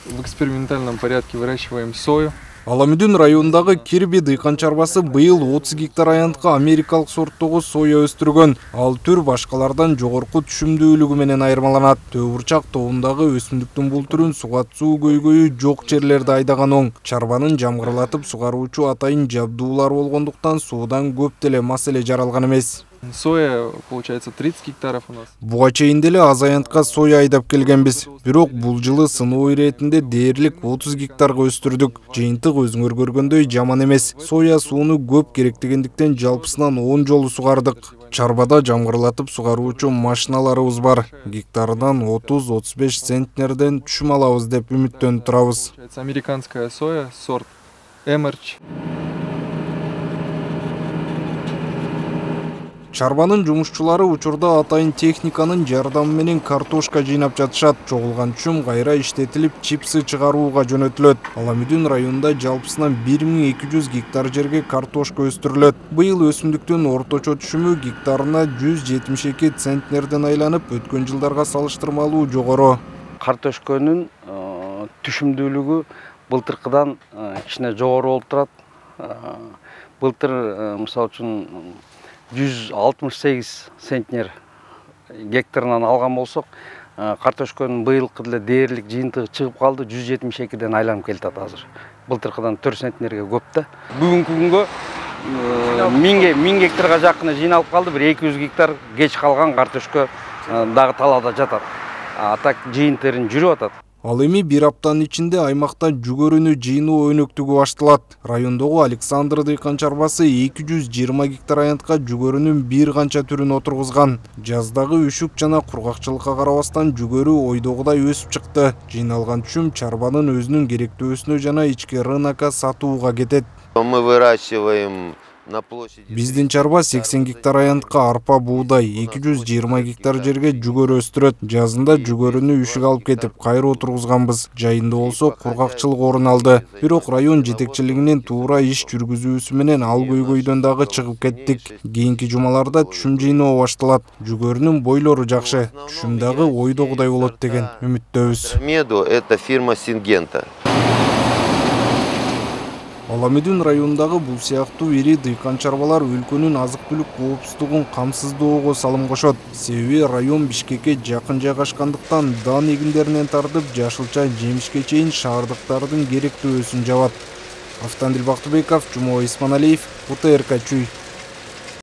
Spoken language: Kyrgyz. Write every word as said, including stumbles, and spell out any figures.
в экспериментальном порядке выращиваем сою. Аламүдүн районундагы Кирби дыйкан чарбасы быйыл отуз гектар аянтка америкалык сорттогу соя өстүргөн. Ал түр башкалардан жогорку түшүмдүүлүгү менен айырмаланат. Төө бурчак тобундагы өсүмдүктүн бул түрүн сугатсуу көйгөйү жок жерлерде айдаган оң. Чарбанын жамгырлатып сугаруучу атайын жабдуулар болгондуктан суудан көп деле маселе жаралган эмес. Соя, получается, тридцать гектаров у нас. Буга чейин деле аз аянтка соя айдап келгенбиз. Бирок бул жылы сыноо иретинде дээрлик отуз гектарга өстүрдүк. Жыйынтык өзүңөр көргөндөй жаман эмес. Соя сууну көп керектегендиктен жалпысынан он жолу сугардык. Чарбада жамгырлатып сугаруучу машиналарыбыз бар. Гектарынан отуз отуз беш центнерден түшүм алабыз деп үмүттөнүп турабыз. Американская соя, сорт Эмерч. Чарбанын жумушчулары учурда атайын техниканын жардамы менен картошка жыйнап жатышат. Чогулган түшүм кайра иштетилип, чипсы чыгарууга жөнөтүлөт. Аламүдүн районунда жалпысынан бир миң эки жүз гектар жерге картошка өстүрүлөт. Быйыл өсүмдүктүн орточо түшүмү гектарына жүз жетимиш эки центнерден айланып, өткөн жылдарга салыштырмалуу жогору. Картошканын түшүмдүүлүгү былтыркыдан кичине жогору болуп турат. Былтыр мисалы үчүн жүз алтымыш сегиз центнер гектарынан алган болсок, картошканын быйылкы деле дээрлик жыйынтыгы чыгып калды, жүз жетимиш экиден айланып келатат азыр. Былтыркыдан төрт центнерге көп да. Бүгүнкү күнгө миңге миң гектарга жакын жыйналып калды, бир эки жүз гектар кеч калган картошка дагы талаада жатат. А так жыйынтырын жүрүп атат. Ал эми бир аптанын ичинде аймакта жүгөрүнү жыйноо өнөктүгү башталат. Райондогу Александр дыйкан чарбасы эки жүз жыйырма гектар аянтка жүгөрүнүн бир канча түрүн отургузган. Жаздагы үшүк жана кургакчылыкка карабастан жүгөрү ойдогудай өсүп чыкты. Жыйналган түшүм чарбанын өзүнүн керектөөсүнө жана ички рынокко сатууга кетет. Мы выращиваем на площади. Биздин чарба сексен гектар аянтка арпа буудай, эки жүз жыйырма гектар жерге жүгөрү өстүрөт. Жазында жүгөрүнү үшүк алып кетип, кайра отургузганбыз. Жайында болсо кургакчылык орун алды. Бирок район жетекчилигинин туура иш жүргүзүүсү менен ал көйгөйдөн дагы чыгып кеттик. Кийинки жумаларда түшүм жыйноо башталат. Жүгөрүнүн бойлору жакшы, түшүм дагы ойдогудай болот деген үмүттөбүз. Меду это фирма Сингента. Аламүдүн районундагы бул сыяктуу ири дыйкан чарбалар өлкөнүн азык-түлүк коопсуздугун камсыздоого салым кошот. Себеби район Бишкекке жакын жайгашкандыктан дан эгиндеринен тартып жашылча жемишке чейин шаардыктардын керектөөсүн жабат. Автандил Бактыбеков, Жумабай Исманалиев, УТРК Чүй.